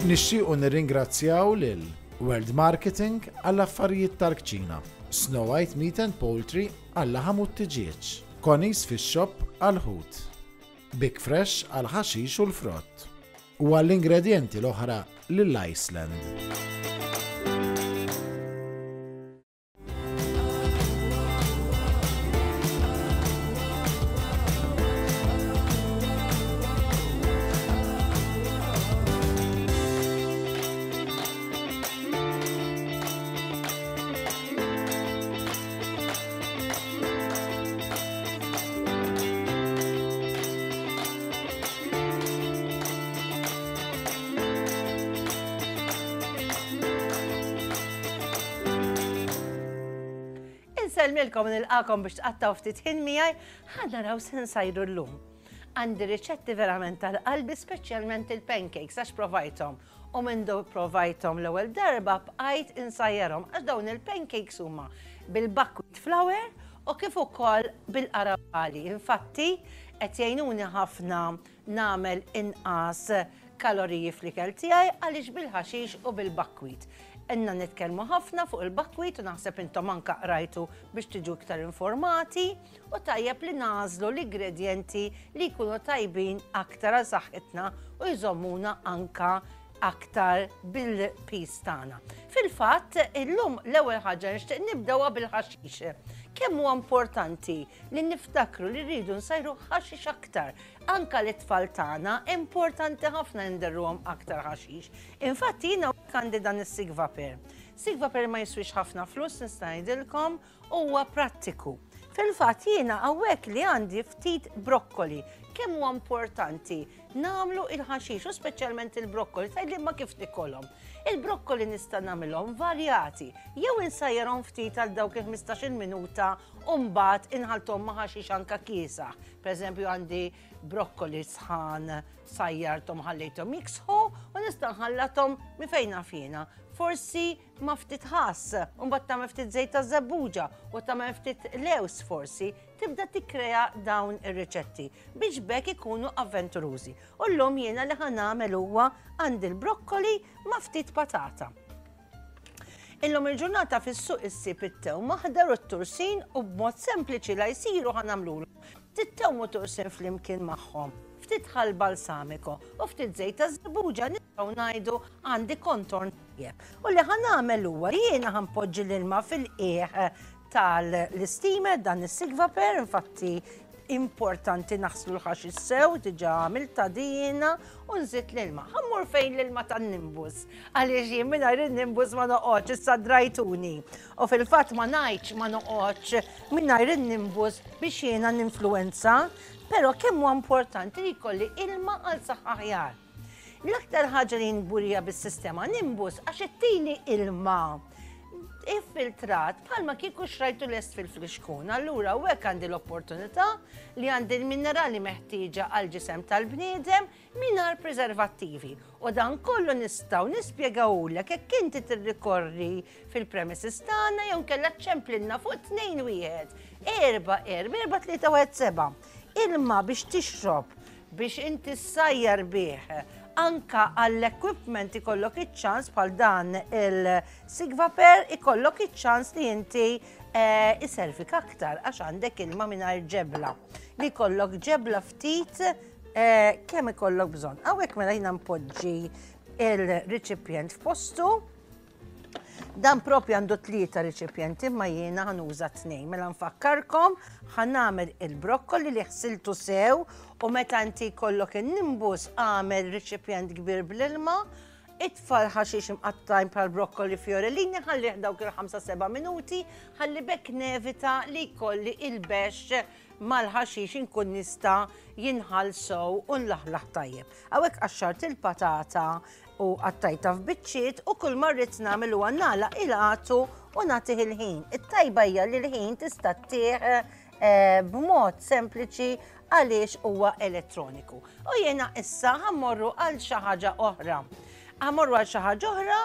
Nixtiequ nirringrazzjaw lil World Marketing għall-affarijiet tal-kċina, Snow White Meat and Poultry għal-laħam u t-tiġieġ, Connie's Fish Shop għall-ħut, Big Fresh għall-ħaxix u l-frott, u għall-ingredjenti l-oħra lil Iceland. Insellmilkom nilqakom biex tqattaw ftit ħin miegħi ħa naraw se nsajru llum. Għandi riċetti verament tal-qalbi speċjalment il-pancakes għax provajthom u minn do provajthom l-ewwel darba bqajt insajjarhom għax dawn il-pancakes huma bil-buckwheat flour u kif ukoll bil-qarabali. Infatti qed jgħinuni ħafna nagħmel inqas kaloriji fl-ikel tiegħi għaliex bil-ħaxix u bil-buckwheat. Inna nitkellmu ħafna fuq il-buckwheat u naħseb intom anka qrajtu biex tiġu iktar informati u tajjeb li nagħżlu l-ingredjenti li jkunu tajbin aktar għal saħħitna u jżommuna anka aktar bil-piż tagħna. Fil-fatt, illum l-ewwel ħaġa nixtieq nibdewha bil-ħaxix. Kemm huwa importanti li niftakru li rridu nsajru ħaxix aktar. Anka l-itfal tagħna importanti ħafna nderruhom aktar ħaxix. Infatti jiena għandi dan is-sigvaper. Sigvaper ma jiswix ħafna flus nista' ngħidilkom huwa prattiku. Fil-fatt jiena hawnhekk li għandi ftit brokkoli. Kemm huwa importanti nagħmlu il-ħaxix u speċjalment il-brokkoli, tgħidli ma kif nikolhom. Il-brokkoli nista' nagħmilhom varjati, jew insajjarhom ftit għal dawk il-15-il minuta u mbagħad inħalthom ma' ħaxix anka kiesaħ. Pereżempju għandi brokkoli sħan sajjarthom ħallejthom jiksħu u nista' nħallathom minn fejn naf jiena. Forsi ma' ftit ħass, u mbagħad tagħmel ftit żejt ta' żebbuġa u tagħmel ftit lews forsi, tibda tikkrea dawn ir-riċetti biex bekk ikunu avventurużi. U llum jiena li ħa nagħmel huwa għandi l-brokkoli ma' ftit patata. Illum il-ġurnata fis-suq issib it-tewm aħdar u t-tursin u b'mod sempliċi la jsiru ħa nagħmlulhom ftit tewm u tursin flimkien magħhom, ftit ħall balsamico u ftit żejt ta' żebbuġa nistgħu ngħidu għandi kontorn tajjeb. U li ħa nagħmel huwa jiena ħa npoġġi l-ilma fil-qiegħ tal-isteamer dan is-sigvaper, infatti importanti naħslu l-ħaxix sew, diġà għamilta dina u nżid l-ilma. Ħammur fejn l-ilma tan-nimbus, għaliex jien mingħajr in-nimbus ma noqgħodx, issa drajtuni. U fil-fatt ma ngħidx ma noqgħodx mingħajr in-nimbus biex jiena ninfluwenza, però kemm huwa importanti li jkolli ilma għal saħħa aħjar. L-aktar ħaġa li nburija bis-sistema nimbus għax ittini ilma iffiltrat bħalma kieku xrajtu lest fil-flixkun. Allura u hekk għandi l-opportunità li għandi l-minerali meħtieġa għal ġisem tal-bniedem mingħajr preservattivi. U dan kollu nistgħu nispjegawlek hekk inti tirrikorri fil-premises tagħna jew kellha ċemplilna fuq 2 1 4 4 4 3 1 7. Ilma biex tixrob biex inti ssajjar bih anka għall-equipment ikollok iċ-ċans bħal dan il-Sigvaper ikollok iċ-ċans li inti eh, iservik aktar għax għandek ilma mingħajr ġebla. Li jkollok ġebla ftit eh, kemm ikollok bżonn. Hawnhekk mela jiena npoġġi il-riċipjent f'postu Dan propju għandu tlieta riċipjenti imma jiena ħanuża tnejn. Mela nfakkarkom ħanamel il-brokkoli li ħsiltu sew u meta inti jkollok in-nimbus għamel riċipjent kbir bl-ilma, itfa' l-ħaxix imqattajn bħal brokkoli fiorellini ħallih dawk il-5-7 minuti ħalli bekk nevita li jkolli il-bexx mal-ħaxix inkun nista' jinħall sew u nlaħlaħ tajjeb. Hawnhekk qaxxart il-patata u qattajtha f'biċċiet u kull ma rrid nagħmel huwa nagħlaq il-għatu u nagħtih il-ħin. It-tajba hija li l-ħin tista' ttih eh, b'mod sempliċi għaliex huwa elettroniku. U jiena issa ħammorru għal xi ħaġa oħra. Ħammorru għal xi ħaġa oħra,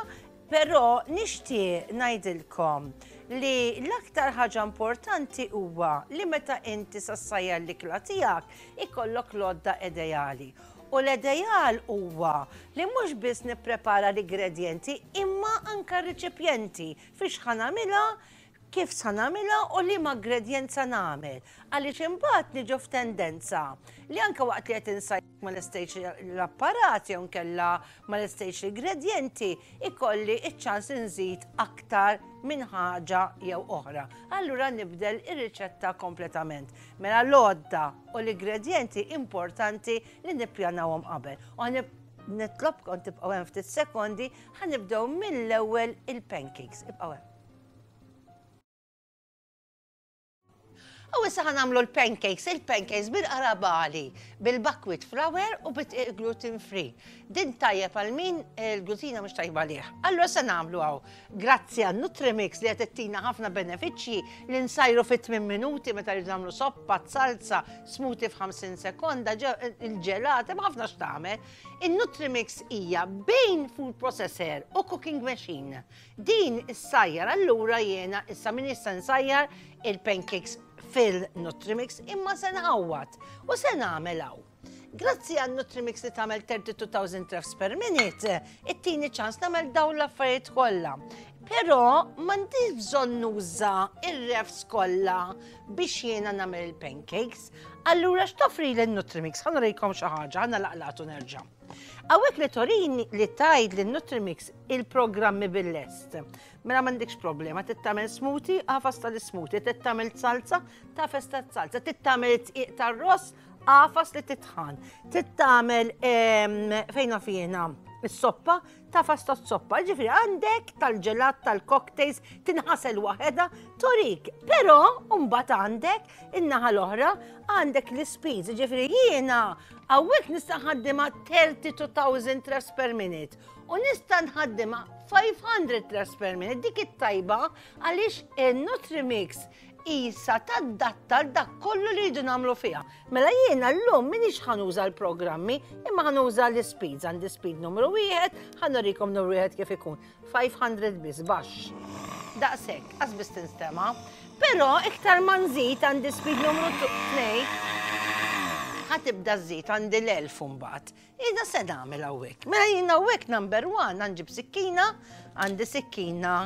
però nixtieq ngħidilkom li l-aktar ħaġa importanti huwa li meta inti sassajjar l-ikla tiegħek ikollok l-għodda ideali. U l-ideal huwa li mhux biss nipprepara l-ingredjenti imma anke r-riċipjenti fiex ħa nagħmilha, kif sa nagħmilha u liema ingredjent sa nagħmel. Għaliex imbagħad niġu f'tendenza li anke waqt li qed insajjar ma lestejtx l-apparat jew nkella ma lestejtx l-ingredjenti, ikolli ċ-ċans inżid aktar minn ħaġa jew oħra. Allura nibdel ir-riċetta kompletament. Mela l-għodda u l-ingredjenti importanti li nippjanawhom qabel. U nitlobkom tibqgħu hemm ftit sekondi, ħa nibdew mill-ewwel il-pancakes. Ibqgħu hemm. U issa ħa nagħmlu l-pancakes, il-pancakes bil-qarabali, bil-buckwheat flour u bit gluten free. Din tajjeb għal min il-glutina mhux tajba għalih. Allura se nagħmlu hawn. Grazzi għal Nutrimix li qed ittina ħafna benefiċċji li nsajru fi 8 minuti meta rridu nagħmlu soppa, salsa, smoothie f'50 sekonda, il-ġelat, hemm ħafna x'tagħmel. In-Nutrimix hija bejn food processor u cooking machine. Din issajjar allura jiena issa min issa nsajjar il-pancakes fil-Nutrimix imma se nħawwad u se nagħmel hawn. Grazzi għal Nutrimix li tagħmel 32,000 revs per minute, it-tieni ċans nagħmel dawn l-affarijiet kollha. Però m'għandix bżonn nuża ir-revs kollha biex jiena nagħmel il-pancakes. Allura x'toffri l-Nutrimix? Ħa nurikom xi ħaġa, ħa nagħlaqlatu nerġa'. Hawnhekk li torini li tgħid li Nutrimix il-programmi bil-lest. Mela m'għandekx problema, trid tagħmel smoothie, għafas tal-smoothie, trid tagħmel salsa, tagħfas tas-salsa, trid tagħmel tqiq tar-ross, għafas li titħan. Trid tagħmel fejn naf jiena is-soppa, tagħfas tas-soppa. Ġifieri għandek tal-ġelat, tal-cocktails, tinħasel waħedha, torik. Però mbagħad għandek In-naħa l-oħra għandek l-ispeeds, ġifieri jiena hawnhekk nista' nħaddimha 32,000 revs per minute u nista' nħaddimha 500 revs per minute. Dik it-tajba għaliex il-Nutrimix isa tadatta għal dak kollu li rridu nagħmlu fiha. Mela jiena llum m'iniex ħa nuża l-programmi, imma ħa nuża l-ispeeds. Għandi speed numru wieħed, ħa nurikom numru wieħed kif ikun. 500 biss baxx. Daqshekk, qas biss tinstema'. Però iktar ma nżid għandi speed numru 2, ħa tibda żżid għandi l-1000 mbagħad. Jiena se nagħmel hawnhekk. Mela jiena hawnhekk number 1 għanġib sikkina, għandi sikkina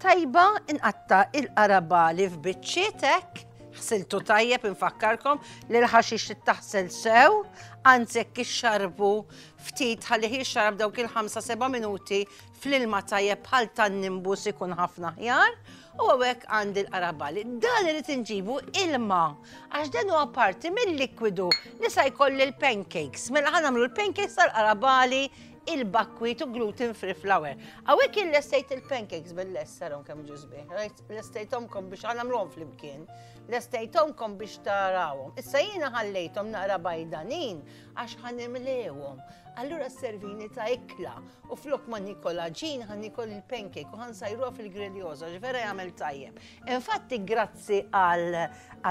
tajba inqatta il-qarabali f'biċċiet hekk ħsiltu tajjeb infakkarkom li l-ħaxix taħsel sew, anzi jekk ixxarbu ftit ħalli jixxarab dawk il-5 7 minuti fl-ilma tajjeb bħal tan-nimbus ikun ħafna aħjar. U hawnhekk għandi l-qarabali. Dan irid inġibu ilma għax dan huwa parti mill-likwidu li sa jkolli l-pancakes. Mela ħa nagħmlu l-pancakes tal-qarabali il-buckwheat u gluten free flour. Hawnhekk il-lestejt il-pancakes bil-lest sarom kemm ġu sbieħ. Lestejthomkom biex ħa nagħmluhom flimkien. Lestejthomkom biex tarawhom. Issa jiena ħallejthom naqra bajdanin għax ħa nimlewhom. Allura servini ta' ikla u flok ma nikol għaġin ħa nikol il-pancake u ħa nsajruha fil-griljosa għax vera jagħmel tajjeb. Infatti grazzi għal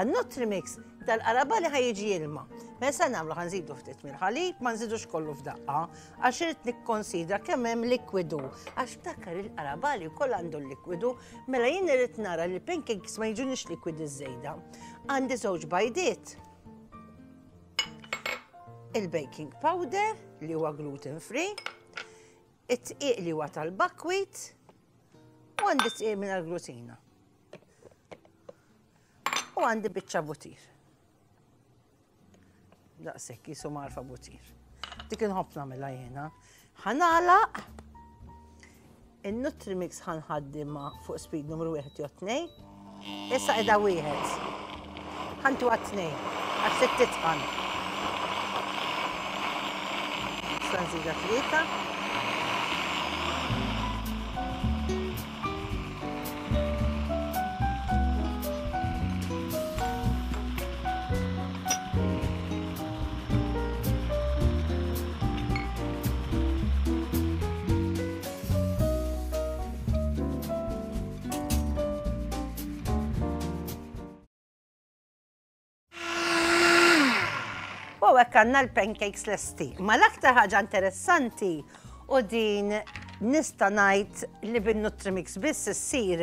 Nutrimix dal-qarabali ħa jiġi ilma. Mela se nagħmlu ħa nżidu ftit mill-ħalib, ma nżidux kollu f'daqqa, għax irid nikkonsidra kemm hemm likwidu. Għax ftakar il-qarabali wkoll għandu l-likwidu, mela jien irid nara li l-pancakes ma jiġunix likwidi żejda. Għandi żewġ bajdiet. Il-baking powder li huwa gluten free, it-tqiq li huwa tal-buckwheat u għandi tqiq mingħajr glutina. U għandi biċċa butir. Daqshekk jisu marfa butir. Dik inħobb nagħmilha jiena. Ħa nagħlaq in-Nutrimix ħa nħaddimha fuq speed numru 1 jew 2. Issa qiegħda wieħed. Ħantuha tnejn għax trid titqan. Issa nżidha tlieta. U hekk għandna l-pancakes lesti. Ma l-aktar ħaġa interessanti u din nista' ngħid li bin-Nutrimix biss issir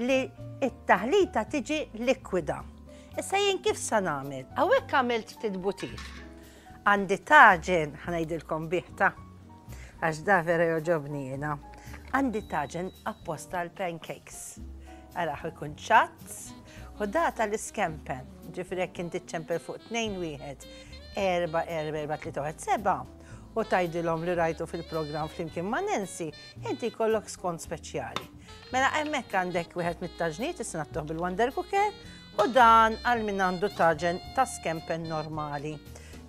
li t-taħlita tiġi likwida. Issa jien kif sa nagħmel? Hawnhekk għamilt ftit butir. Għandi taġen, ħa ngħidilkom bih ta' għax da vera jogħġobni jiena. Għandi taġen apposta għal pancakes. Ara ikun ċatt u da tal-iskempen. Ġifieri jekk inti ċempel fuq 2 1 4 4 4 3 1 7 u tgħidilhom li rajtu fil-programm flimkien ma' Nancy, inti jkollok skont speċjali. Mela hemmhekk għandek wieħed mit-taġniet issa nagħtuh bil-Wonder Cooker U dan għal min għandu taġen ta' skempen normali.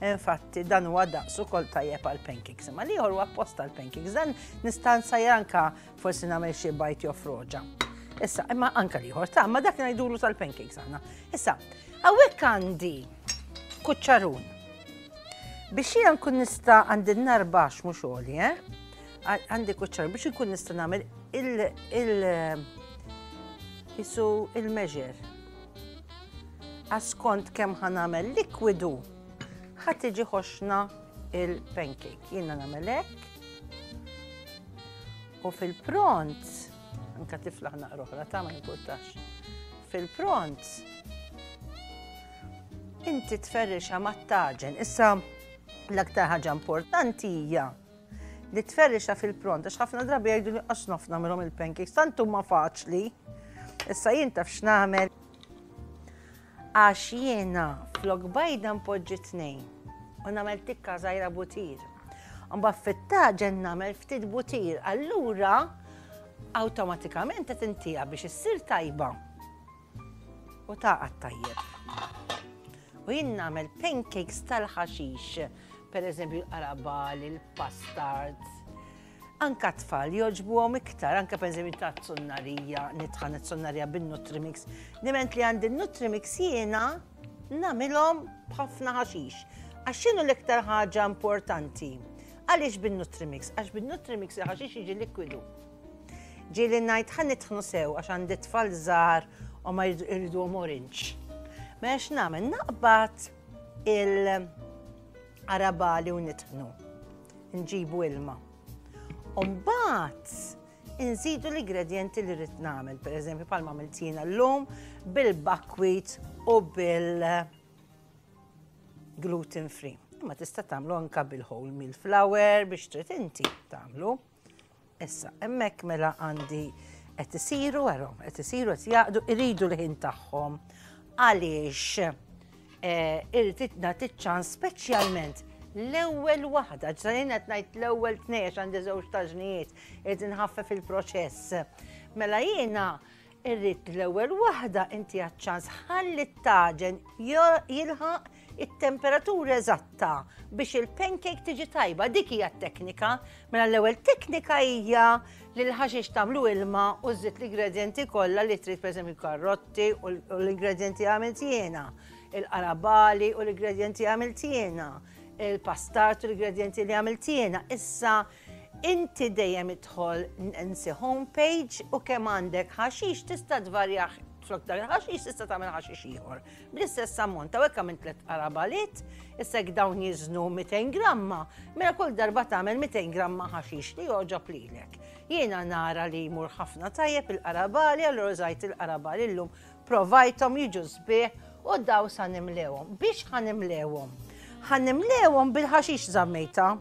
Infatti, dan huwa daqs ukoll tajjeb għal pancakes. Imma l-ieħor huwa apposta għal pancakes. Dan nista' nsajjar anka forsi nagħmel xi bajt jew froġa. Issa, imma anka l-ieħor ta' ma dak ngħidulu tal-pancakes aħna. Issa, hawnhekk għandi kuċċarun. Biex jiena nkun nista' għandi n-nar baxx mhux għoli, eh? Għandi kuċċar biex nkun nista' nagħmel il- il- jisu il-measure. Għaskont kemm ħa nagħmel likwidu ħa tiġi ħoxna il-pancake. Jiena nagħmel hekk. U fil-pront, anka tiflaħ naqra oħra ta' ma jimpurtax. Fil-pront, inti tferrixa mat-taġen. Issa l-aktar ħaġa importanti hija li tferrixa fil-pront, għax ħafna drabi jgħidu li għax naf nagħmilhom il-pancakes, tant huma faċli. Issa jien taf x'nagħmel għax jiena flok bajda npoġġi tnejn u nagħmel tikka żgħira butir. Mbagħad fit-taġen nagħmel ftit butir, allura awtomatikament qed intiha biex issir tajba. U tagħqad tajjeb. U jien nagħmel pancakes tal-ħaxix, per eżempju l-qarabal, il-pastard. Anka tfal jogħġbuhom iktar, anka per eżempju ta' zunnarija, nitħan it-zunnarija bin-Nutrimix. Diment li għandi n-Nutrimix jiena nagħmilhom b'ħafna ħaxix. Għax x'inhu l-iktar ħaġa importanti? Għaliex bin-Nutrimix? Għax bin-Nutrimix il-ħaxix jiġi likwidu. Ġieli ngħid ħa nitħnu sew għax għandi tfal żgħar u ma jriduhom orange. Mela x'nagħmel? Naqbad il-qarabali u nitħnu. Nġibu ilma. U mbagħad inżidu l-ingredjenti li rrid nagħmel, pereżempju bħalma għamilt jiena llum bil-buckwheat u bil gluten free. Imma tista' tagħmlu anka bil-whole meal flour biex trid inti tagħmlu. Issa, hemmhekk mela għandi qed isiru għarhom, qed isiru qed jaqdu, iridu l-ħin tagħhom. Għaliex eh, irrid nagħti ċans speċjalment l-ewwel waħda, ġsalin qed ngħid l-ewwel tnej għandi żewġ taġnijiet, irid inħaffef il-proċess. Mela jiena Irrid l-ewwel waħda inti ċans ħalli t-taġen jilħaq it-temperatura eżatta biex il-pancake tiġi tajba. Dik hija t-teknika. Mela l-ewwel teknika hija li l-ħaxix tagħmlu ilma u żżid l-ingredjenti kollha li trid pereżempju karrotti u l-ingredjenti għamilt jiena, il-qarabali u l-ingredjenti għamilt jiena, il-pastart u l-ingredjenti li għamilt jiena. Issa Inti dejjem idħol Nancy homepage u kemm għandek ħaxix tista' tvarjah flok dak il-ħaxix tista' tagħmel ħaxix ieħor. Bl-istess ammont, hawnhekk għamilt tliet qarabalit, issa jekk dawn jiżnu 200 gramma, mela kull darba tagħmel 200 gramma ħaxix li jogħġob lilek. Jiena nara li jmur ħafna tajjeb il-qarabali, allura użajt il-qarabali llum, provajthom jiġu sbieħ u daw sa nimlewhom. Biex ħa nimlewhom? Ħa nimlewhom bil-ħaxix żammejta.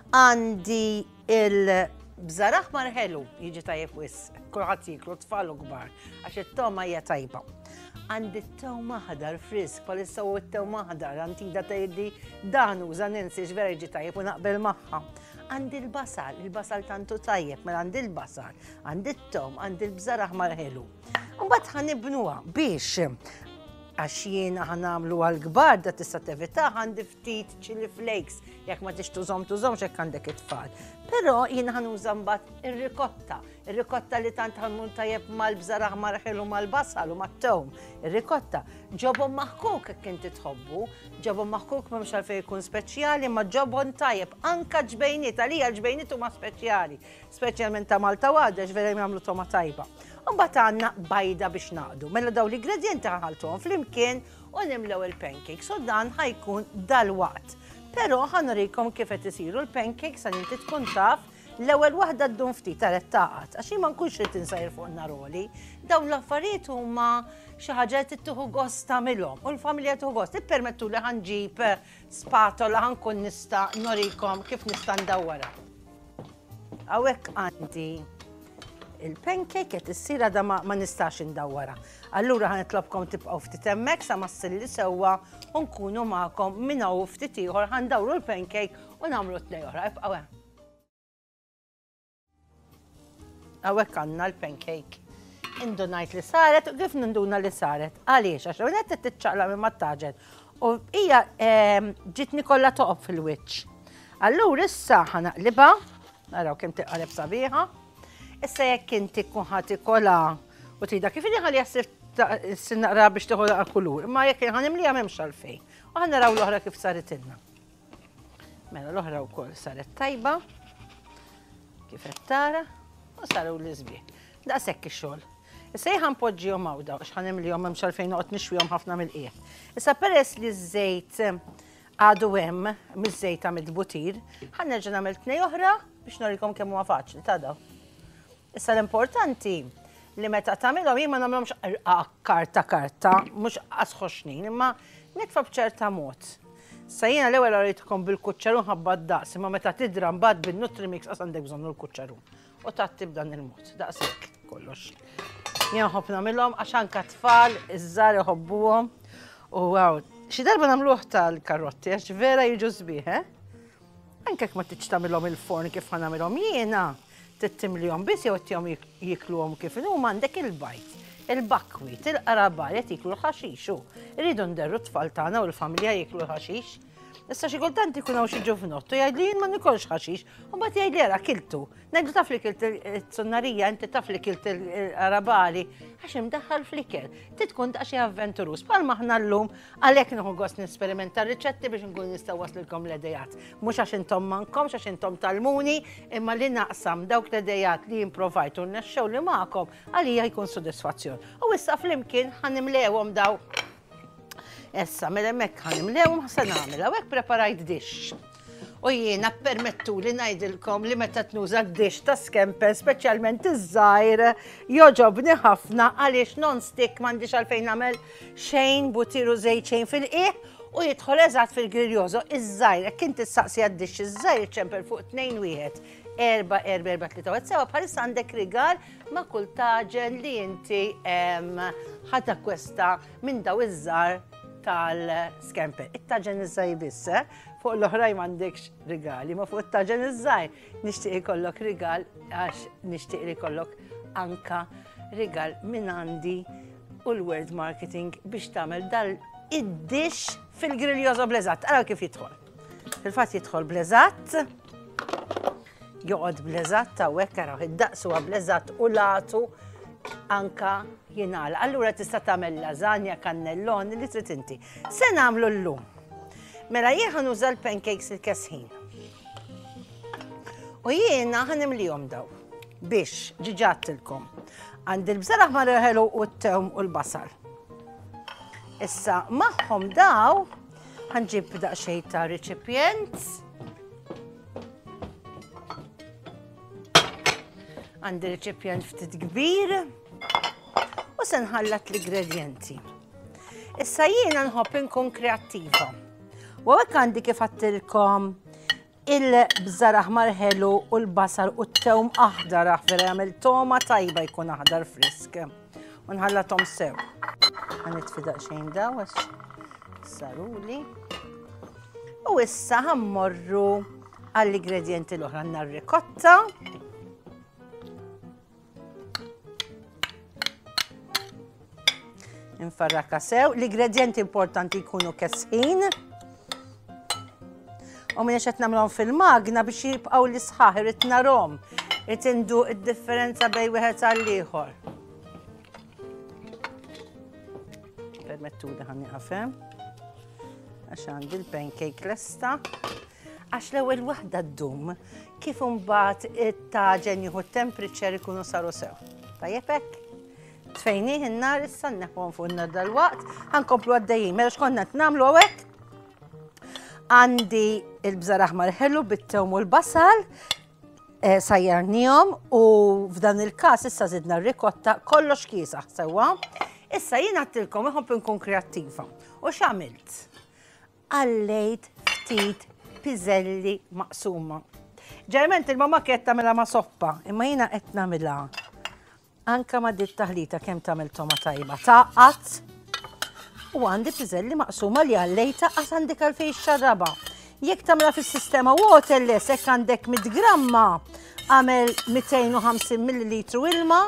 Għandi il-bżar aħmar ħelu, jiġi tajjeb wisq, kulħadd jiklu tfal u kbar, għax it-toma hija tajba. Għandi t-tewm aħdar frisk, palissa u t-tewm aħdar, antida tgħidli dan uża Nancy vera jiġi tajjeb u naqbel magħha. Għandi l-basal, il-basal tantu tajjeb, mela għandi l-basal, għandi t-tewm, għandi l-bżar aħmar ħelu. Mbagħad ħanibnuha biex għax jiena ħanamlu għal-kbar da tista' tevita għandi ftit chili flakes, jekk ma tix tużom tużomx jekk għandek it-tfal. Però jien ħanuża mbagħad ir-rikotta, ir-rikotta li tant ħanmun tajjeb mal-bżar aħmar ħelu mal-basal u mat-tewm. Ir-rikotta ġobon maħkuk jekk inti tħobbu, ġobon maħkuk m'hemmx għalfejn ikun speċjali, ma ġobon tajjeb, anka ġbejniet, għalija l-ġbejniet huma speċjali, speċjalment ta' Malta u Għawdex vera jagħmlu toma tajba. Mbagħad għandna bajda biex naqdu. Mela daw l-ingredjenti ħaltuhom flimkien u nimlew il-pancakes u dan ħa jkun dalwaqt. Però ħa nurikom kif qed isiru l-pancakes għal inti tkun taf L-ewwel waħda ddum ftit għaret taqgħad, għax jien ma nkunx rrid insajr fuq naroli. Dawn l-affarijiet huma xi ħaġa li tieħu gost tagħmilhom u l-familja tieħu gost. Ippermettu li ħanġib spatola ħankun nista' norikom kif nista' ndawwarha. Hawnhekk għandi il-pancake qed issir għadha ma nistax indawwarha. Allura ħa nitlobkom tibqgħu ftit hemmhekk sa ma ssilli sewwa u nkunu magħkom minn hawn ftit ieħor ħa ndawru l-pancake u nagħmlu tnej oħra. Ibqgħu hemm. Hawnhekk għandna l-pancake. Indunajt li saret u kif ninduna li saret? Għaliex? Għax l-ewwel qed tiċċaqlaq minn mat-taġen u hija ehm, ġitni kollha toqob fil-wiċċ. Allura issa ħanaqlibha, naraw kemm tiqaleb sabiħa. Issa jekk inti tkun ħadd ikola u tridha kif inhi ħalli jassir naqra biex tieħu naqra kulur, imma jekk ħanimliha m'hemmx għalfejn. U ħa naraw l-oħra kif saritilna. Mela l-oħra wkoll saret tajba. Kif qed tara, u saru l-isbieħ. Daqshekk ix-xogħol. Issa jien ħanpoġġihom hawn daw għax ħanimlihom m'hemmx għalfejn noqgħod nixwihom ħafna mill-qiegħ. Issa peress li ż-żejt għadu hemm miż-żejt ta' butir, ħa nerġa' nagħmel tnej oħra biex norikom kemm huwa faċli ta' daw. Issa l-importanti li meta tagħmilhom jien ma nagħmilhomx irqaq karta karta, mhux qas ħoxnin, imma nitfa' b'ċerta mod. Sa jiena l-ewwel għaritkom bil-kuċċarun ħabba d-daqs, imma meta tidra mbagħad bin-Nutrimix qas għandek bżonn l-kuċċarun. U tgħatti b'dan il-mod, daqshekk kollox. Jien nħobb nagħmilhom għax anka tfal iż-żgħar iħobbuhom. U wow, xi darba nagħmluh tal-karotti għax vera jiġu sbieħ, eh? Anke jekk ma tridx tagħmilhom il-forn kif ħa nagħmilhom jiena, Trid timlihom biss jew ittihom jiekluhom kif inhuma għandek il-bajd, il-buckwheat, il-qrabal qed jieklu l-ħaxix u rridu nderru t-tfal tagħna u l-familja jieklu l-ħaxix. Issa xi kultant ikun hawn xi ġuvnott u jgħidli jien ma nikolx ħaxix, u mbagħad jgħidli ara kiltu. Ngħidlu taf li kilt it-sunnarija, inti taf li kilt il-qarabali, għax imdaħħal fl-ikel. Trid tkun daqsxejn avventuruż. Bħalma aħna llum għalhekk nieħu gost nesperimenta riċetti biex nkun nista' waslilkom l-idejat. Mhux għax intom m'għandkomx, għax intom tgħallmuni, imma li naqsam dawk l-idejat li jien provajt u rnexxew li magħkom, għalija jkun sodisfazzjon. U issa flimkien ħa nimlewhom daw. Issa, mela hemmhekk ħa nimlewhom se nagħmel. Hawnhekk preparajt dixx. U jiena permettuli ngħidilkom li meta tnuża d-dixx ta' skemper, speċjalment iż-żgħir, jogħġobni ħafna għaliex non-stick m'għandix għalfejn nagħmel xejn butiru żejt xejn fil-qiegħ U jidħol eżatt fil-griljoso iż-żgħir, jekk inti ssaqsi għad-dixx iż-żgħir ċempel fuq 2 1 4 4 4 3 1 sewa bħalissa għandek rigal ma' kull taġen li inti ħa takkwesta minn daw iż-żgħar tal-skemper. It-taġen iż-żgħir biss, eh? Fuq l-oħrajn m'għandekx rigali, ma fuq it-taġen iż-żgħir nixtieq ikollok rigal għax nixtieq li jkollok anka rigal minn għandi u l-word marketing biex tagħmel dal id-dix fil-griljoso bleżatt. Ara kif jidħol. Fil-fatt jidħol bleżatt, joqgħod bleżatt hawnhekk araw id-daqs huwa bleżatt u latu anka jingħala. Allura tista' tagħmel lasagna, kannelloni li trid inti. Se nagħmlu llum. Mela jien ħa nuża l-pancakes il-kesħin. U jiena ħa nimlihom daw biex ġiġattilkom. Għandi l-bżar aħmar ħelu u t-tewm u l-basal. Issa magħhom daw ħanġib daqsxejn ta' reċipjent. Għandi reċipjent ftit kbir u se nħallat l-ingredjenti. Issa jiena nħobb inkun kreattiva. U hekk għandi kif għattilkom Il-bżar aħmar ħelu u l-basal u t-tewm aħdar aħ vera jagħmel toma tajba jkun aħdar frisk. U nħallathom sew. Ħanitfi daqsxejn daw għax saruli. U issa ħammorru għall-ingredjenti l-oħra għandna r-rikotta. Infarraka sew. L-ingredjenti importanti jkunu kesħin. U minn qed nagħmlhom fil-magna biex jibqgħu l-isħaħ irid narhom. Irid indu id-differenza bejn wieħed għal ieħor. Permettuli ħa nieqaf hemm. Għax għandi l-pancake lesta. Għax l-ewwel waħda ddum kif imbagħad it-taġen jieħu temperature ikunu saru sew. Tajjeb hekk? Tfejnih in-nar issa nneħħuhom fuq in-nar dal-waqt, ħankomplu għaddejjin. Mela x'konna qed nagħmlu hawnhekk? Għandi il-bżar aħmar ħelu bit-tewm u l-basal. Eh, sajjarnihom u f'dan il-każ issa zidna r-rikotta kollox kiesaħ sewwa. Issa jien għattilkom iħobb inkun kreattiva. U x'għamilt? Għallejt ftit piżelli maqsuma. Ġerment il-mama kienet tagħmilha ma' soppa, imma jiena qed nagħmilha Anka ma' dit taħlita kemm tagħmel toma tajba. Tagħqad u għandi piżelli maqsuma li għallejta qas għandek għalfejn xarraba. Jekk tagħmilha fis-sistema waterless hekk għandek 100 gramma għamel 250 ml ilma,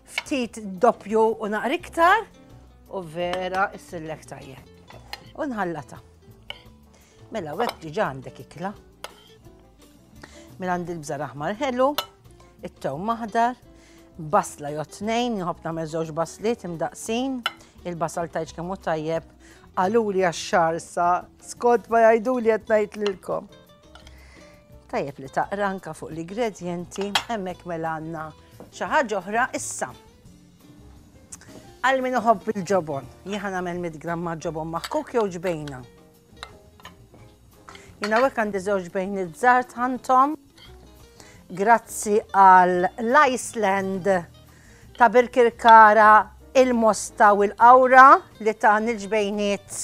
ftit doppju u naqra iktar u vera issillek tajjeb. U nħallata. Mela hekk diġà għandek ikla. Mela għandi l-bżar aħmar ħelu, it-tewm aħdar, basla jew tnejn, nħobb nagħmel żewġ basliet imdaqsin, il-basal tajġ kemm hu tajjeb, qaluli għax-xahar sa skont ma jgħiduli qed ngħid lilkom. Tajjeb li taqra anka fuq l-ingredjenti, hemmhekk mela għandna xi ħaġa oħra issa. Għal min iħobb il-ġobon, jien nagħmel 100 gramma ġobon maħkuk jew ġbejna. Jien hawnhekk għandi żewġ bejn iż-żar tħantom. Grazzi għal l-Iceland ta' Birkirkara, il-Mosta u l-Qawra li ta' nil-ġbejniet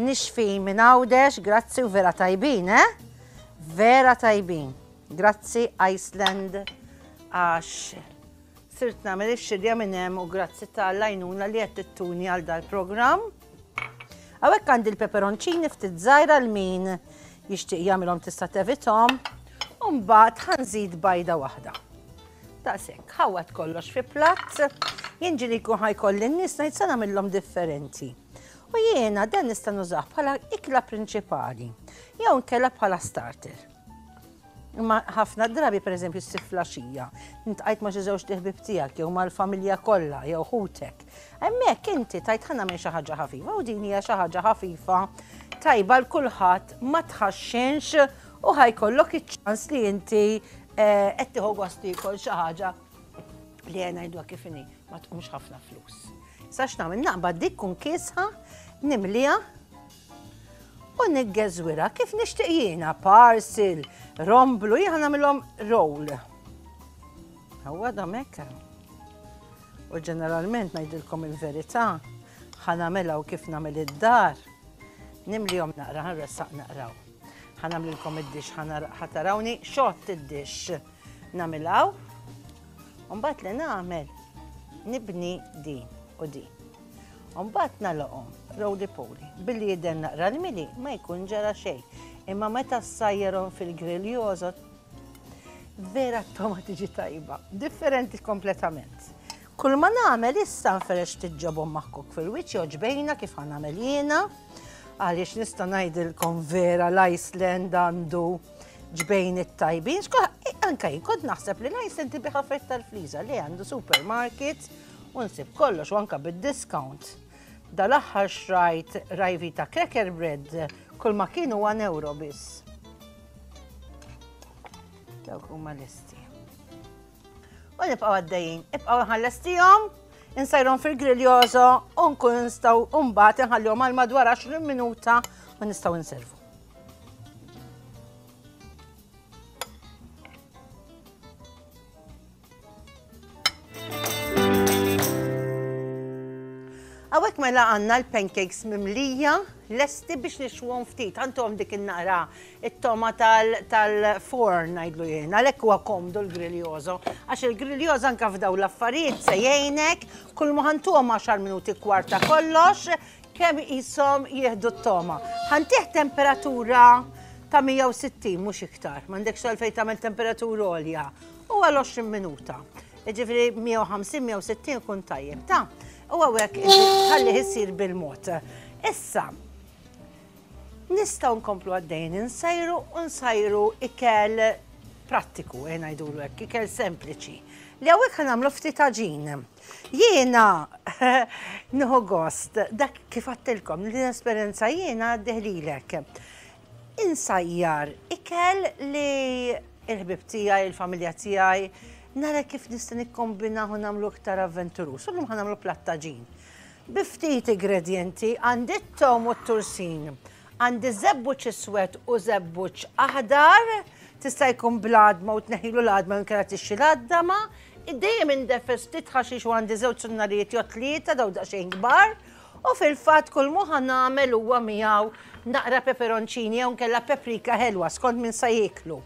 nixfin minn Għawdex, grazzi u vera tajbin, eh? Vera tajbin. Grazzi Iceland għax sirt nagħmel ix-xirja minn hemm u grazzi tal-għajnuna li qed tittuni għal dal-programm. Hawnhekk għandi l-peperonċini ftit żgħira l min jixtieq jagħmilhom tista' tevithom. U mbagħad ħanżid bajda waħda. Daqshekk, ħawwad kollox fi platt. Jien ġieli jkun ħajkolli n-nies ngħid se nagħmilhom differenti. U jiena dan nista' nużah bħala ikla prinċipali jew inkella bħala starter. Imma ħafna drabi pereżempju ssir flaxija, intqajt ma' xi żewġ ħbieb tiegħek jew mal-familja kollha jew ħutek. Hemmhekk inti tajt ħa nagħmel xi ħaġa ħafifa u din hija xi ħaġa ħafifa tajba l kulħadd ma tħaxxinx u ħajkollok iċ-ċans li inti eh, qed tieħu gost tiekol xi ħaġa li għena ngħiduha kif inhi ma tqumx ħafna flus. Sa x'nagħmel naqbad dik kun kiesħa nimliha U niggeżwirha kif nixtieq jiena, parcel, romblu, jiena nagħmilhom roll. Huwa damek. U ġeneralment ngħidilkom il-verità, ħa nagħmilha u kif nagħmel id-dar, nimlihom naqra, ħanressaq naqraw. Ħa nagħmlilkom id-dix, ħa tarawni xott id-dix nagħmilhaw. U mbagħad li nagħmel nibni din u din. U mbagħad nagħlaqhom roly poly. Billi jidher naqra l-mili ma jkun ġara xejn. Imma meta ssajjarhom fil-grill jożgħod, vera t-togħma tiġi tajba, differenti kompletament. Kull ma nagħmel issa nferrex ftit ġobon maħkuk fil-wiċċ jew ġbejna kif ħa nagħmel jiena, għaliex nista' ngħidilkom vera l-Iceland għandu ġbejn it-tajbin. Anka jien kont naħseb li l-Iceland ibiħ affarijiet tal-fliża li għandu supermarket U nsib kollox u anka bid-discount. Dal-aħħar xrajt Rajvita cracker bread kull ma kienu 1 euro biss. Dawk huma lesti. U nibqgħu għaddejjin, ibqgħu nħallestihom, insajrhom fil-griljoso u nkun nistgħu mbagħad inħallihom għal madwar 20 minuta u nistgħu nservu. Hawnhekk mela għandna l-pancakes mimlija lesti biex nixwhom ftit. Għandhom dik in-naqra it-toma tal-forn ngħidlu jien. Għalhekk huwa komdu l-griljoso. Għax il-griljoso anke f'dawn l-affarijiet se jgħinek kull ma ħantuhom 10 minuti kwarta kollox kemm qishom jieħdu t-toma. Ħantih temperatura ta' 160 mhux iktar. M'għandekx għalfejn tagħmel temperatura għolja. U għal 20 minuta. Ġifri 150-160 kun tajjeb. Ta' u għawek ħalli jissir bil-mod. Issa, nistaw nkomplu għaddejn insajru u nsajru ikel prattiku, eh, ngħidulu hekk, ikel sempliċi. Li hawnhekk ħa nagħmlu ftit għaġin. Jiena nieħu gost dak kif għattilkom li l-esperjenza jiena għaddiħlilek. Insajjar ikel li il-ħbib tiegħi, il-familja tiegħi, nara kif nista' nikkombinahu nagħmlu iktar avventuruż. U llum ħa nagħmlu platt għaġin. Bi ftit ingredjenti għandi t-tewm u t-tursin, għandi żebbuġ iswed u żebbuġ aħdar, Tista' jkun bl-għadma u tneħħilu l-għadma jew inkella tixxi l-għaddama. Dejjem indeffes ftit ħaxix u għandi żewġ sunnarijiet jew tlieta daw daqsxejn kbar. U fil-fatt kull mu ħa nagħmel huwa miegħu naqra peperoncini jew inkella paprika ħelwa skont min sa jieklu.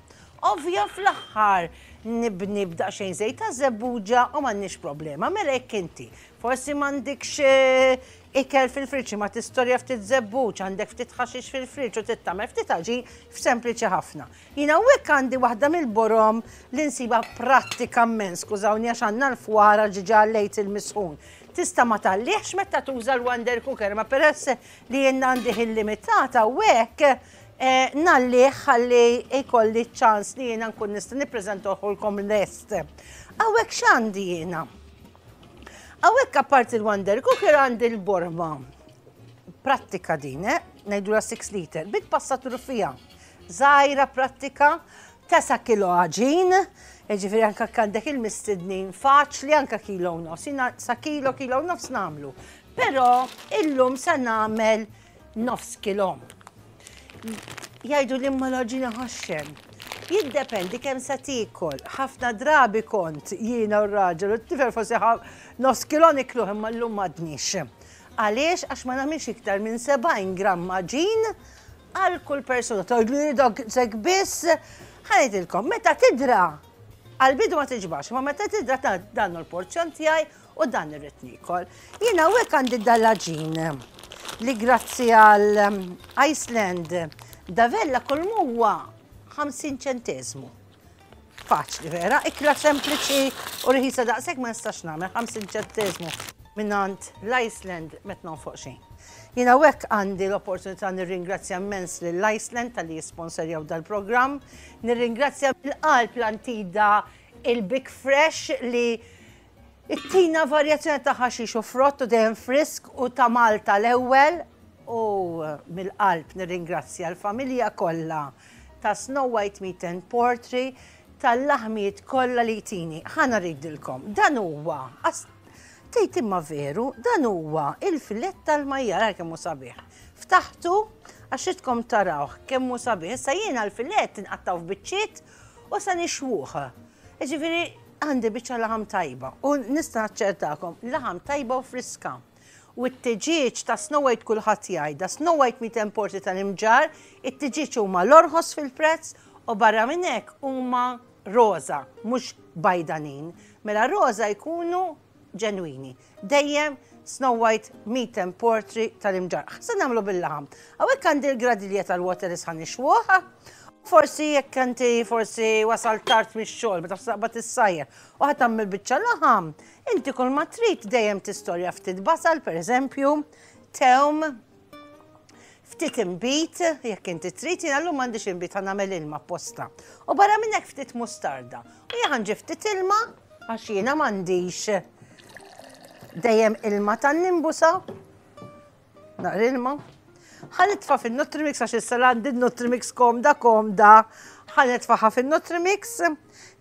Ovvja fl-aħħar nibni b'daqsxejn żejt ta' żebbuġa u m'għandniex problema. Mela jekk inti forsi m'għandikx eh, ikel fil-friġġ imma tistorja ftit żebbuġ, għandek ftit ħaxix fil-friġġ u trid tagħmel ftit għaġin f'sempliċi ħafna. Jiena hawnhekk għandi waħda mill-borom li nsiba prattika immens, skużawni għax għandna l-fwara ġiġa lejt il-misħun. Tista' ma tgħallihx meta tuża l-Wonder Cooker, ma peress li jien għandi ħin limitat hawnhekk eh, ngħallih ħalli jkolli ċans li jiena nkun nista' nippreżentahulkom lest. Hawnhekk x'għandi jiena? Hawnhekk apparti l-Wonder Cooker għandi l-borma. Prattika din, eh? Ngħidulha 6 liter, bit-passatur fiha. Żgħira prattika, Tesa' kilo għaġin, jiġifieri anke jekk għandek il-mistednin faċli anke kilo u nofs. Jiena sa kilo, kilo u nofs nagħmlu. Però illum se nagħmel nofs kilo. Jgħidu li imma l-għaġin iħaxxen. Jiddependi kemm se tiekol. Ħafna drabi kont jiena u r-raġel u t-tifel forsi nofs kilo nikluh imma llum m'għadniex. Għaliex? Għax ma nagħmilx iktar minn 70 gramm għaġin Għal kull persuna tgħidli dak sekk biss, ħa ngħidilkom, meta tidra għal-bidu ma tiġbax, ma meta tidra ta' dan l-porzjon tiegħi u dan irrid niekol. Jiena hawnhekk għandi dal-għaġin li grazzi għal um, Iceland Davella kull huwa 50 ċentesmu. Faċli vera, ikla sempliċi u rħisa daqshekk ma nistax nagħmel 50 ċenteżmu mingħand l-Iceland met nonfoq xejn. Jiena hekk għandi l-opportunità nirringrazzja immens lill-Iceland talli jisponsorjaw dal-programm, nirringrazzja mill-qalb l-Antida il-Big Fresh li ittina varjazzjoni ta' ħaxix u frott u dejjem frisk u ta' Malta l-ewwel u mill-qalb nirringrazzja l-familja kollha ta' Snow White Meat and Poultry tal-laħmijiet kollha li jtini. Ħa naridilkom, dan huwa, tgħid imma veru, dan huwa il-filett tal-majjal, ara kemm hu sabiħ. Ftaħtu għax ridkom tarawh kemm hu sabiħ. Issa jiena l-filett inqattgħu f'biċċiet u sa nixwuh. Jiġifieri għandi biċċa laħam tajba u nista' naċċertakom laħam tajba u friska. U t-tiġieġ ta' Snow White kulħadd jgħidha, Snow White Meat and Poultry tal-Imġarr, it-tiġieġ huma l-orħos fil-prezz u barra minn hekk huma roża, mhux bajdanin. Mela roża jkunu ġenwini. Dejjem Snow White Meat and Poultry tal-Imġarr. Se nagħmlu bil-laħam. Hawnhekk għandi l-gradilja tal-water li sa nixwuh. Forsi jekk inti forsi wasal tard mix-xogħol meta taqbad issajjar u ħa tagħmel biċċa laħam, Inti kull ma trid dejjem tistorja ftit basal, per eżempju, tewm, ftit inbid, jekk inti trid, jiena llum m'għandix inbid ħa nagħmel ilma apposta. U barra minn hekk ftit mustarda. U jien ħanġi ftit ilma għax jiena m'għandix dejjem ilma tan-nimbusa. Naqra ilma. Ħa nitfa' fin-Nutrimix għax issa għandi n-Nutrimix komda komda. Ħa nitfaħa fin-Nutrimix.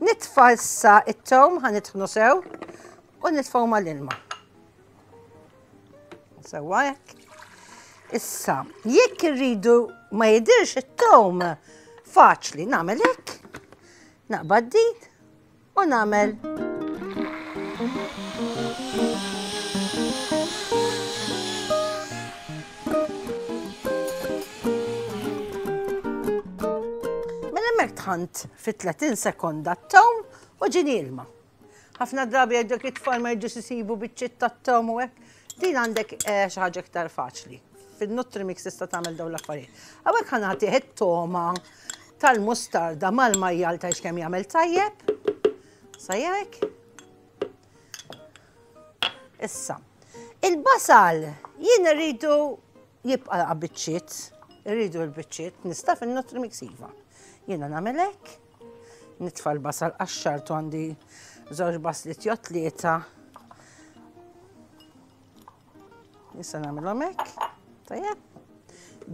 Nitfa' issa it-tewm ħa nitħnu sew u nitfgħu mal-ilma. Sewwa hekk. Issa, jekk irridu ma jidirx it-tewm, faċli nagħmel hekk. Naqbad din u nagħmel Mela hemmhekk tħant fi 30 sekonda t-tewm u ġini ilma. Ħafna drabi jgħidulek it-tfal ma jġux isibu biċċiet tat-tewm u hekk. Din għandek eh, xi ħaġa iktar faċli. Fin-Nutrimix tista' tagħmel dawn l-affarijiet. Hawnhekk ħa nagħtih it-toma tal-mustarda mal-majjal tgħidx kemm jagħmel tajjeb. Sajjek. Issa, il-basal jien irridu jibqa' biċċiet, irridu l-biċċiet, nista' fin-Nutrimix iva. Jiena nagħmel hekk, nitfa' l-basal qaxxartu għandi żewġ baslit jew tlieta. Issa nagħmilhom hekk. Tajjeb.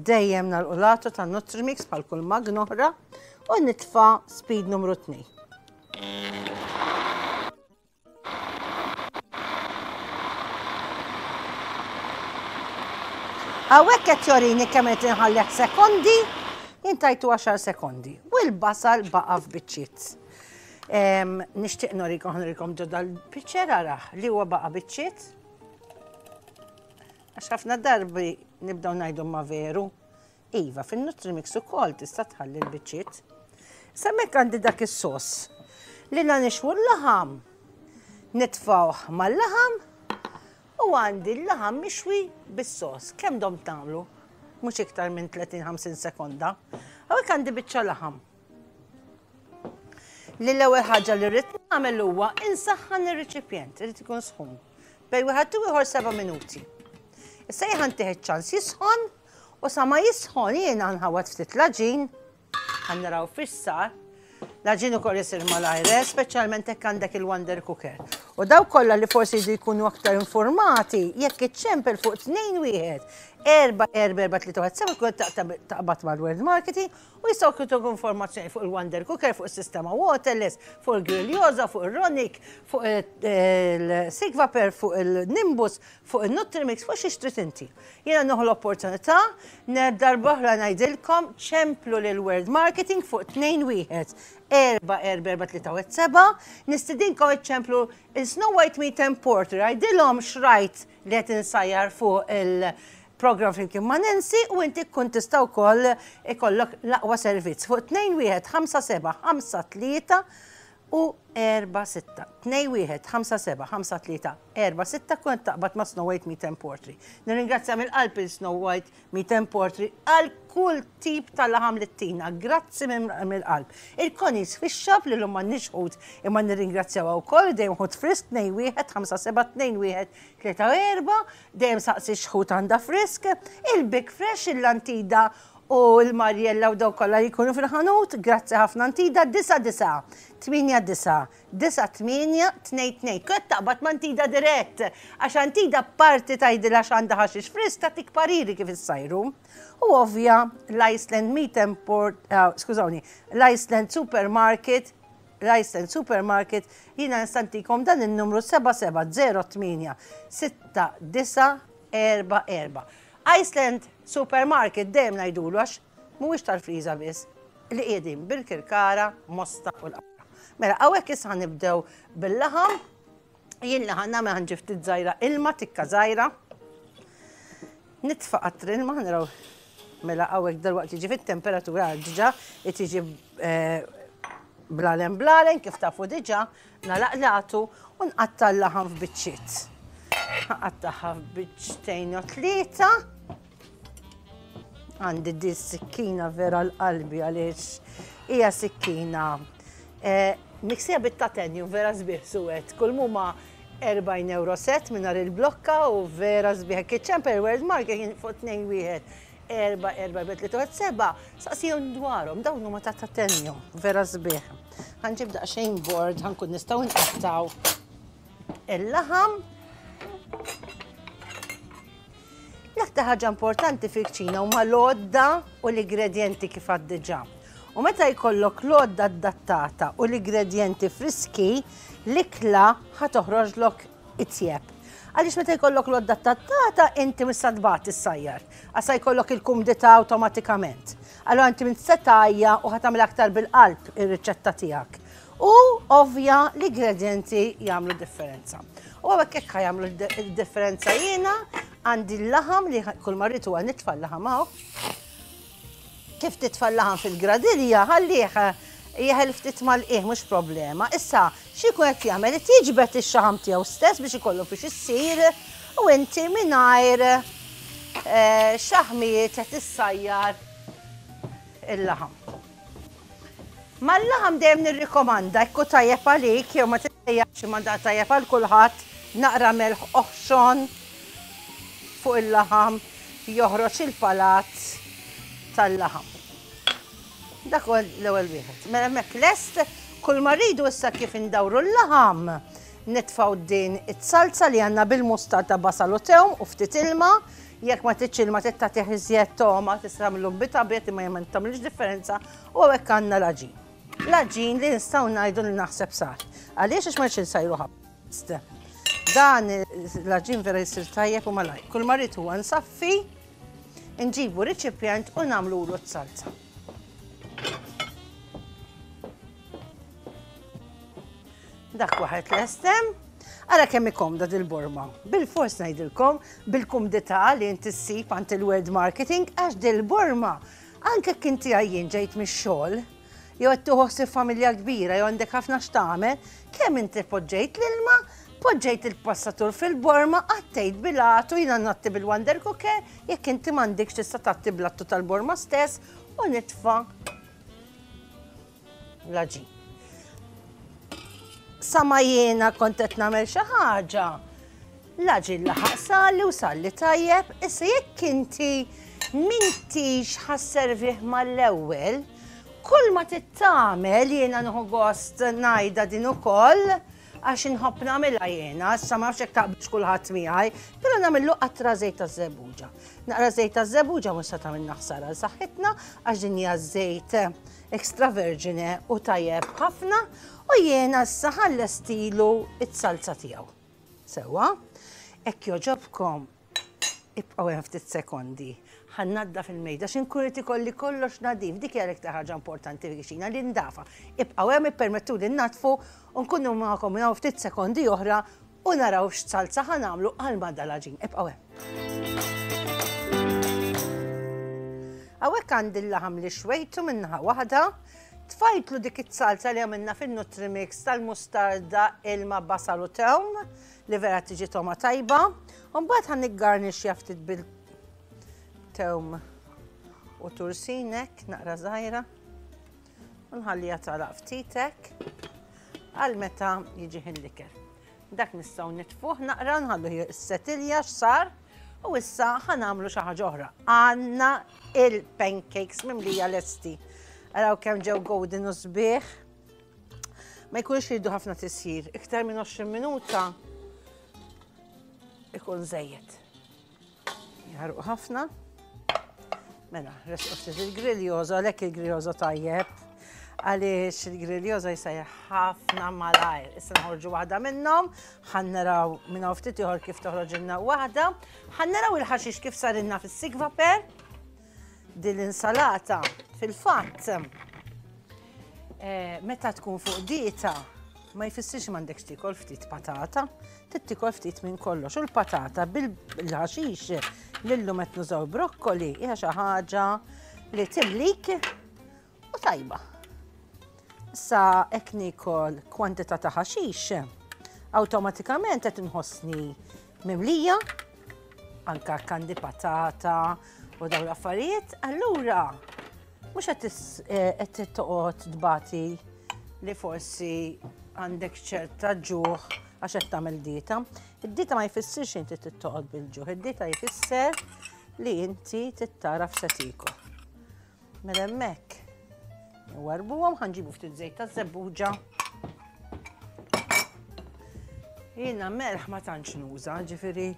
Dejjem nagħlqu ta' Nutrimix bħal kull magna oħra u nitfa' speed numru 2. Hawnhekk qed jorini kemm qed inħallih sekondi, jien tajtu 10 sekondi. u l-basal baqa' f'biċċiet. Nixtieq norikom norikom ġo dal-piċċer araħ li huwa baqa' biċċiet. Għax ħafna darbi nibdew ngħidu ma veru. Iva, fin-Nutrimix ukoll tista' tħalli l-biċċiet. Semmek għandi dak is-sos li la nixwu l-laħam. Nitfawh mal-laħam u għandi l-laħam mixwi bis-sos. Kemm dom tagħmlu? Mhux iktar minn 30-50 sekonda. Hawnhekk għandi biċċa laħam. Li l-ewwel ħaġa li rrid nagħmel huwa insaħħan ir-riċipjent, irid ikun sħun. Bej wieħed u ieħor seba' minuti. Issa jien ħantih iċ-ċans jisħon u sa ma jisħon jiena nħawad ftit l-għaġin, ħa naraw fiex sar. L-għaġin ukoll isir malajr, eh, speċjalment hekk għandek il-Wonder Cooker. U daw kollha li forsi jridu jkunu aktar informati, jekk iċċempel fuq 2 1 4 4 4 3 1 7 kun taqbad mal-World Marketing U jistgħu jtukom informazzjoni fuq il-Wonder Cooker, fuq is-sistema Waterless, fuq il-Grilljosa, fuq ir-Ronic, fuq il-Sigvaper, fuq il-Nimbus, fuq il-Nutrimix, fuq xi trid inti. Jiena nieħu l-opportunità darba oħra ngħidilkom ċemplu lil World Marketing fuq 21 4 4 4 3 7 nistidinkom iċċemplu il-Snow White Meat and Porter għidilhom xrajt li qed insajjar fuq il- Programm flimkien ma' Nancy u inti tkun tista' wkoll ikollok l-aqwa servizz fuq 21 57 53 u 46. 21 57 53 46 kun qed taqbad ma' Snow White Meat and Poultry. Nirringrazzja mill-qalb il Snow White Meat and Poultry għal kull tip ta' laħam li tina. Grazzi mill-qalb. Il-Connie's Fish Shop li llum m'għandniex ħut imma nirringrazzjawha wkoll dejjem ħut frisk 2 1 5 7 2 1 3 4 Dejjem saqsi x'ħut għandha frisk, il-Big Fresh, il-Lantida u l-Marjella u dawk kollha li jkunu fil-ħanut, grazzi ħafna Antida, 9 9 8 9 9 8 2 2. Kont taqbad ma' Antida dirett, għax Antida parti tgħidilha x'għandha ħaxix frisk tagħtik pariri kif issajru. U ovvja l-Iceland Meat and Port, uh, skużawni, l-Iceland Supermarket L-Iceland Supermarket, jiena nista' ntikom dan in-numru 7708 6944. Iceland Supermarket dejjem ngħidulu għax mhuwiex tal-friża biss li qiegħdin Birkirkara, Mosta u l-Qawra. Mela hawnhekk issa nibdew bil-laħam. Jien li ħa nagħmel ħa nġib ftit żgħira ilma, tikka żgħira. Nitfa' qatr ilma, naraw mela hawnhekk dalwaqt jiġi fit-temperatura diġà qed jiġi eh, blalen blalen kif tafu diġà nalaqlatu u nqatta' l-laħam f'biċċiet. Nqattagħha f'biċċtejn u tlieta. Għandi di sikkina vera l-qalbi għaliex hija sikkina eh, miksija bit-tatenju vera sbieħ suwed. Kull muma 40 euro set mingħajr il-blokka u vera sbieħ. Kitchen World Market kien fuq 2 wieħed 4 4 3 3 7 saqsihom dwarhom dawn huma ta' tatenju vera sbieħ. Ħanġib daqsxejn board ħankun nistgħu nqattgħu il-laħam. L-aktar ħaġa importanti fil-kċina huma l-għodda u l-ingredjenti kif għad diġà. U meta jkollok l-għodda adattata u l-ingredjenti friski, l-ikla ħa toħroġlok itjeb. Għaliex meta jkollok l-għodda adattata inti mhux sa tbati ssajjar, għax sa jkollok il-kumdità awtomatikament. Allura inti minn se tgħajja u ħa tagħmel aktar bil-qalb ir-riċetta tiegħek. U ovvja l-ingredjenti jagħmlu differenza. U hawnhekk hekk jagħmlu d-differenza jiena għandi l-laħam li kull ma rrid huwa nitfa' l-laħam hawn. Kif titfa' l-laħam fil-gradilja ħallih jeħel ftit mal-qiegħ mhux problema. Issa xi jkun qed jagħmel qed jiġbed ix-xaħam tiegħu stess biex ikollu fiex issir u inti mingħajr eh, xaħmijiet qed issajjar il-laħam. Mal-laħam dejjem nirrikomanda jekk hu tajjeb għalik jew ma tiddejjaqx imma da tajjeb għal kulħadd naqra melħ oħxon fuq il-laħam joħroġ il-palat tal-laħam. Dak huwa l-ewwel wieħed. Mela hemmhekk lest, kull ma rridu issa kif indawru l-laħam nitfgħu din it-salza li għandna bil-mustard ta' basal u tewm u ftit ilma. Jekk ma tridx ilma trid tagħtih iżjed togħma tista' tagħmlu bit abjad imma ma tagħmilx differenza u hawnhekk għandna l-għaġin. L-għaġin li nistgħu ngħidu li naħseb sar. Għaliex għax ma rridx insajru ħafna. Dan l-għaġin vera jsir tajjeb u malajr. Kull ma rrid huwa nsaffi, nġibu riċipjent u nagħmlulu t-salza. Dak waħed lestem. Ara kemm ikomda dil-borma. Bil-fors ngħidilkom, bil-kumdità li inti ssib għand il-World Marketing, għax dil-borma, anke jekk inti għajjien ġejt mix-xogħol, jew qed tieħu ħsieb familja kbira jew għandek ħafna x'tagħmel, kemm inti poġġejt l-ilma, poġġejt il-passatur fil-borma, għattejt bil-għatu, jiena ngħatti bil-Wonder Cooker, jekk inti m'għandikx tista' tgħatti bl-għattu tal-borma stess u nitfa' l-għaġin. Sa ma jiena kont qed nagħmel xi ħaġa, l-għaġin laħaq sali u salli tajjeb, issa jekk inti m'intix ħasservih mal-ewwel, kull ma tittamel jiena nieħu gost ngħidha din ukoll, għax inħobb nagħmilha jiena, issa ma nafx jekk taqbilx kulħadd miegħi, però nagħmillu qatra żejt taż-żebbuġa. Naqra żejt taż-żebbuġa mhux se tagħmilna ħsara għal saħħitna għax din hija żejt extra vergine u tajjeb ħafna u jiena issa ħallestilu it-salza tiegħu. Sewwa, hekk jogħġobkom ibqgħu hemm ftit sekondi. Ħa nnaddaf il-mejda xi nkun irid ikolli kollox nadif, dik hija l-iktar ħaġa importanti fil-kċina li ndafa. Ibqgħu hemm ippermettuli nnaddfu u nkunu magħkom minn hawn ftit sekondi oħra u naraw x'salza ħa nagħmlu għal ma' dal-għaġin. Ibqgħu hemm. Hawnhekk għandi l-laħam li xwejtu minn naħa waħda, tfajtlu dik it-salza li għamilna fin-Nutrimix tal-mustarda, ilma, basal u tewm, li vera tiġi togħma tajba. U mbagħad ħa niggarnixxja ftit bil-tewm u tursin hekk, naqra żgħira. U nħalliha tagħlaq ftit hekk għal meta jiġi ħin l-ikel. Dak nistgħu nitfuh naqra nħallu s-setilja x'sar u issa ħa nagħmlu xi ħaġa oħra. Għandna il-pancakes mimlija lesti. Araw kemm ġew golden u sbieħ. Ma jkunx jridu ħafna tisjir, iktar minn 20 minuta ikun żejjed. Jaħarqu ħafna. Mela, resqu ftit il-griljoza, għalhekk il-griljoza tajjeb, għaliex il-griljoza jsejjaħ ħafna malajr. Issa nħorġu waħda minnhom, ħan naraw minn hawn ftit ieħor kif toħroġilna waħda, ħan naraw il-ħaxix kif sarilna fis-sigva per. Din l-insalata fil-fatt eh, meta tkun fuq dieta ma jfissirx m'għandekx tikol ftit patata, trid tikol ftit minn kollox. U l-patata bil-ħaxix lillum qed nużaw brokkoli hija xi ħaġa li timlik u tajba. Issa hekk nikol kwantità ta' ħaxix, awtomatikament qed inħossni mimlija, anka kandi patata u dawn l-affarijiet, allura mhux qed eh, toqgħod tbati li forsi għandek ċerta ġuħ għax qed tagħmel dieta. Id-dieta ma jfissirx inti tittoqgħod bil-ġuħ, id-dieta jfisser li inti tittara f'se Mela hemmhekk nwarbuhom ħa nġibu ftit żejt taż-żebbuġa. Jiena melħ ma tantx nuża, ġifieri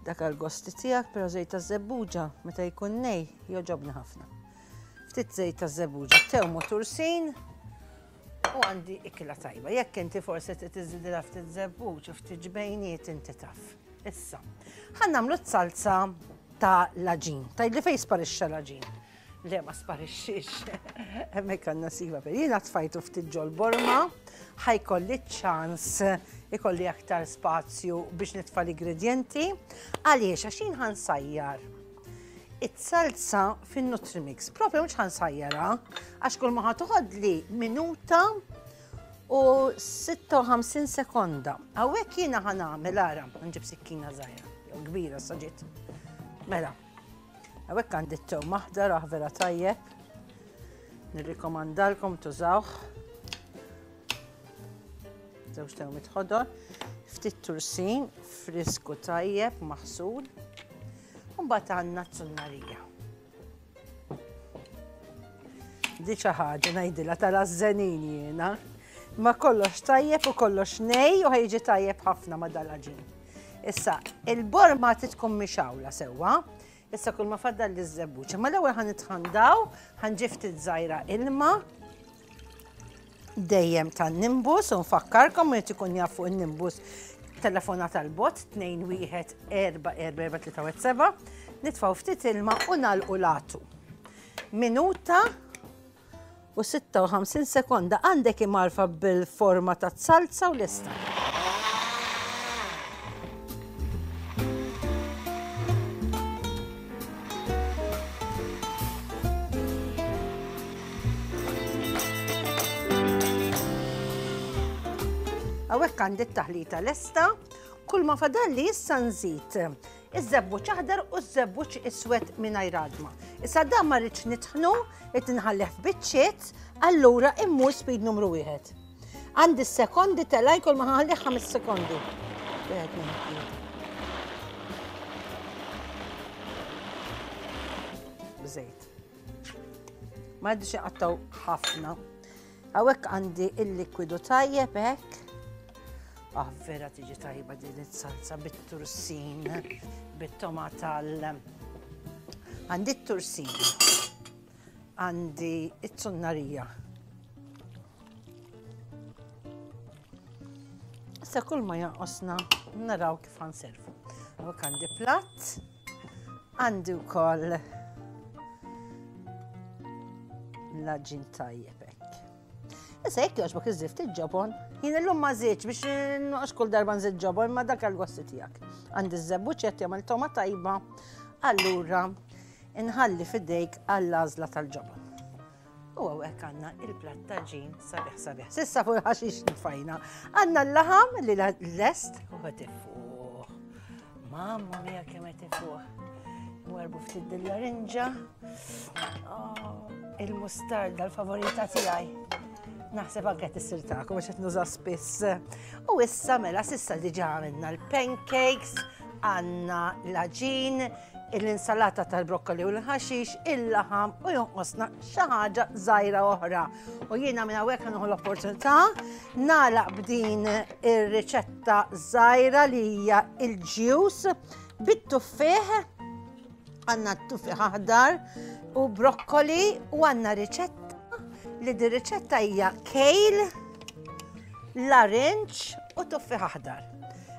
dak għall-gosti tiegħek, però żejt taż-żebbuġa meta jkun nej jogħġobni ħafna. Ftit żejt taż-żebbuġa, tewm u tursin u għandi ikla tajba. Jekk inti forsi trid iżidilha ftit żebbuġ u ftit ġbejniet inti taf. Issa, ħa nagħmlu t-salza ta' l-għaġin. Tgħidli fejn sparixxa l-għaġin? Le ma sparixxiex. Hemmhekk għandna siva per. Jiena tfajtu ftit ġol borma, ħajkolli ċans ikolli aktar spazju biex nitfa' l-ingredjenti. Għaliex għax jien ħansajjar it-salza fin-Nutrimix. Propju mhux ħansajjarha għax kull ma ħatoħodli minuta u 56 sekonda. Hawnhekk jiena ħa nagħmel ara, nġib sikkina żgħira, jew kbira saġiet. Mela, hawnhekk għandi t-tewm aħdar ah vera tajjeb. Nirrikomandalkom tużawh. Żewġ tewmiet ħodor, ftit tursin, frisku tajjeb, maħsul. U mbagħad għandna t-zunnarija. Di xi ħaġa ngħidilha tal-għażżenin jiena. Ma kollox tajjeb u kollox nej u ħajġi tajjeb ħafna ma dal-għaġin. Issa, il-borma trid tkun mixawla sewwa. Issa kull ma faddal li żebbuċ. Ma l-ewwel ħan nitħandaw, ħan ftit żgħira ilma dejjem tan-nimbus u nfakkarkom li ikun jaf fuq in-nimbus telefona tal-bot 2 1 4 4 4 3 7 nitfgħu ftit ilma u nagħlqu latu. Minuta. u 56 sekonda għandek imgħarfa bil-forma ta' salza u lesta. Hawnhekk għandi t-taħlita lesta, kull ma fadalli issa nżid iż-żebbuġ aħdar u ż-żebbuġ iswed mingħajr għadma. Issa dan ma rridx nitħnu, qed inħallih f'biċċiet, allura immur speed numru wieħed. Għandi s-sekondi telaj kull ma ħallih ħames sekondi. Wieħed, tnejn, Bżejt. Ma rridx inqattgħu ħafna. Hawnhekk għandi il-likwidu tajjeb hekk. Ah, vera tiġi tajba din it-salsa bit-tursin, bit-tomata l Għandi t-tursin, għandi it-tunnarija. Issa kull ma jonqosna naraw kif ħanservu. Hawnhekk għandi platt, għandi wkoll l-aġin tajjeb hekk. Issa jekk jogħġbok iżżid ftit ġobon, jien illum ma żidx biex noqgħodx kull darba nżid ġobon ma dak għall-gosti tiegħek. Għandi ż-żebbuġ qed jagħmel toma tajba, allura inħalli fidejk għall-għażla tal-ġobon. U hawnhekk għandna il-platt ta' ġin sabiħ sabiħ. Sissa fuq il-ħaxix nfajna. Għandna l-laħam li lest u qed ifuħ. Mamma mia kemm qed ifuħ. Warbu ftit dil-larinġa. Oh, il-mustarda l-favorita tiegħi. Naħseb anke tissir tagħkom għax qed nuża spiss. U issa mela sissa diġà għamilna l-pancakes, għandna l-aġin, l-insalata tal-brokkoli u l-ħaxix, il-laħam u jonqosna xi ħaġa żgħira oħra. U jiena minn hawnhekk nieħu l-opportunità nagħlaq b'din ir-riċetta żgħira li hija il-ġius bit-tuffieħ għandna t-tuffieħ aħdar u brokkoli u għandna riċetta li di riċetta hija kale, larinġ u tuffieħ aħdar.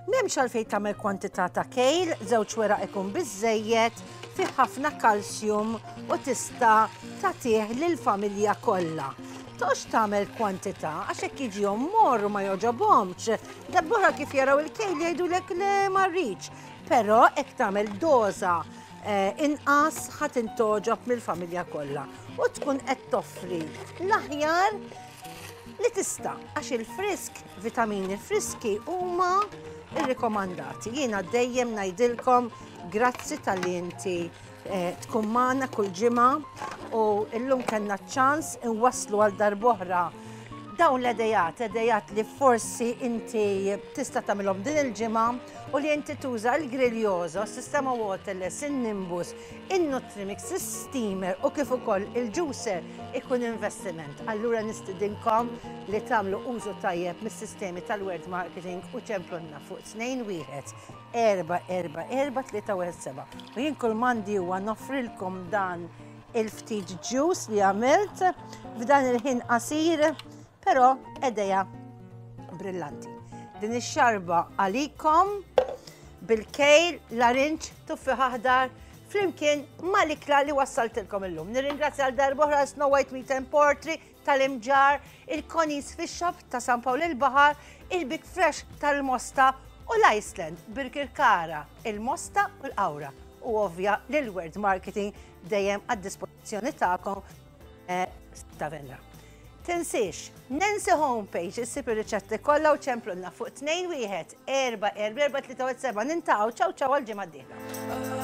M'hemmx għalfejn tagħmel kwantità ta' kale, żewġ weraq ikun biżżejjed, fih ħafna kalsjum u tista' tagħtih lill-familja kollha. Toqgħodx tagħmel kwantità għax hekk jiġihom morr u ma jogħġobhomx. Darb'oħra kif jaraw il-kale jgħidulek le ma rridx. Però hekk tagħmel doża eh, inqas ħa tintogħġob mill-familja kollha u tkun qed toffri l-aħjar li tista' għax il-frisk, vitamini friski huma irrikomandati. Jiena dejjem ngħidilkom grazzi tal-li inti eh, tkun magħna kull ġimgħa u llum kellna ċans inwasslu għal darb'oħra dawn l-edejat, edejat li forsi inti tista' tagħmilhom din il-ġimgħa u li inti tuża l-Griljoso, s-sistema waterless, in-Nimbus, in-Nutrimix, is-steamer u kif ukoll il-juicer ikun investiment. Allura nistidinkom li tagħmlu użu tajjeb mis-sistemi tal-word marketing u ċemplunna fuq 21 4 4 4 3 1 7. U jien kull m'għandi huwa noffrilkom dan il-ftit juice li għamilt f'dan il-ħin qasir, però edeja brillanti. Din ix-xarba għalikom bil-kejl, larinġ, tuffiħ aħdar, flimkien mal-ikla li wassaltilkom illum. Nirringrazzja għal darb'oħra Snow White Meat and Poultry tal-Imġarr, il-Connie's Fish Shop ta' San Pawl il-Baħar, il-Big Fresh tal-Mosta u l-Iceland, Birkirkara, il-Mosta u l-Qawra. U ovvja li l-World Marketing dejjem għad-dispożizzjoni tagħkom eh, ta' Venra. Tinsiex, Nancy Homepage issib ir-riċetti kollha u ċemplunna fuq 2 1 4 4 4 3 7 nintaqgħu ċaw ċaw għal ġimgħa d-dieħla.